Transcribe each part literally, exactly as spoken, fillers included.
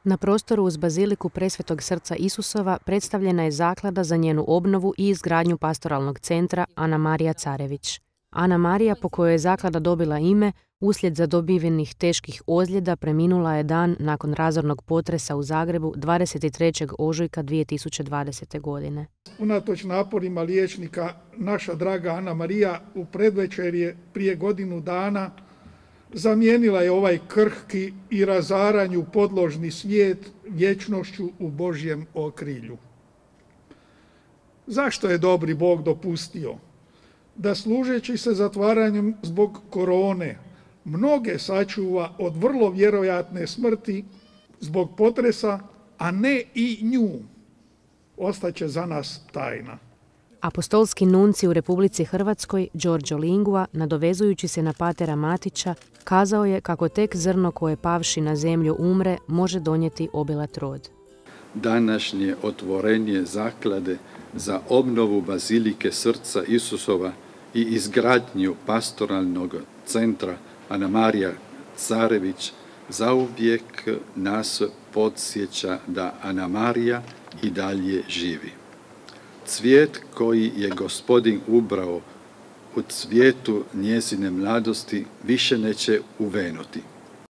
Na prostoru uz baziliku Presvetog srca Isusova predstavljena je zaklada za njenu obnovu i izgradnju pastoralnog centra Ana Marija Carević. Ana Marija, po kojoj je zaklada dobila ime, uslijed zadobivenih teških ozljeda preminula je dan nakon razornog potresa u Zagrebu dvadeset trećeg ožujka dvije tisuće dvadesete. godine. Unatoč naporima liječnika, naša draga Ana Marija u predvečerje prije godinu dana zamijenila je ovaj krhki i razaranju podložni svijet vječnošću u Božjem okrilju. Zašto je dobri Bog dopustio da, služeći se zatvaranjem zbog korone, mnoge sačuva od vrlo vjerojatne smrti zbog potresa, a ne i nju? Ostaće za nas tajna. Apostolski nunci u Republici Hrvatskoj, Giorgio Lingua, nadovezujući se na patera Matića, kazao je kako tek zrno koje pavši na zemlju umre može donijeti obilat rod. Današnje otvorenje zaklade za obnovu bazilike srca Isusova i izgradnju pastoralnog centra Ana Marija Carević zauvijek nas podsjeća da Ana Marija i dalje živi. Cvijet koji je Gospodin ubrao u cvijetu njezine mladosti više neće uvenuti.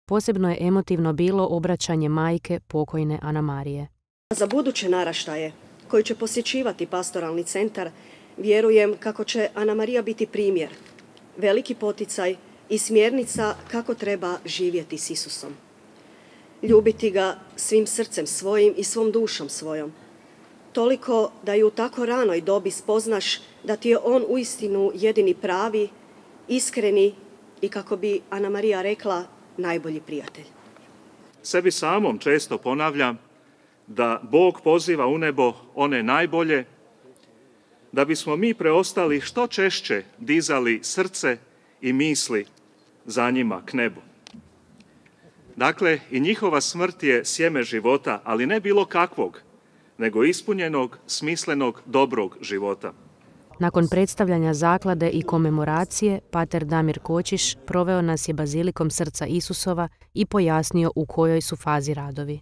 Posebno je emotivno bilo obraćanje majke pokojne Ana Marije. Za buduće naraštaje koji će posjećivati pastoralni centar, vjerujem kako će Ana Marija biti primjer, veliki poticaj i smjernica kako treba živjeti s Isusom. Ljubiti ga svim srcem svojim i svom dušom svojom. Toliko da i u tako ranoj dobi spoznaš da ti je on uistinu jedini pravi, iskreni i, kako bi Ana Marija rekla, najbolji prijatelj. Sebi samom često ponavljam da Bog poziva u nebo one najbolje, da bismo mi preostali što češće dizali srce i misli za njima k nebu. Dakle, i njihova smrt je sjeme života, ali ne bilo kakvog, nego ispunjenog, smislenog, dobrog života. Nakon predstavljanja zaklade i komemoracije, pater Damir Kočiš proveo nas je bazilikom srca Isusova i pojasnio u kojoj su fazi radovi.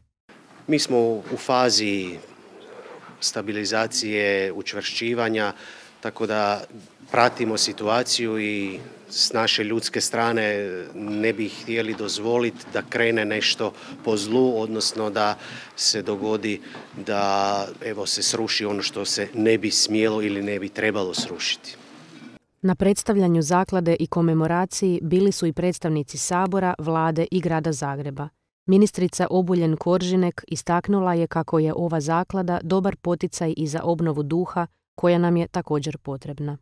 Mi smo u fazi stabilizacije, učvršćivanja, tako da pratimo situaciju i s naše ljudske strane ne bi htjeli dozvoliti da krene nešto po zlu, odnosno da se dogodi da evo se sruši ono što se ne bi smjelo ili ne bi trebalo srušiti. Na predstavljanju zaklade i komemoraciji bili su i predstavnici Sabora, Vlade i Grada Zagreba. Ministrica Obuljen Koržinek istaknula je kako je ova zaklada dobar poticaj i za obnovu duha koja nam je također potrebna.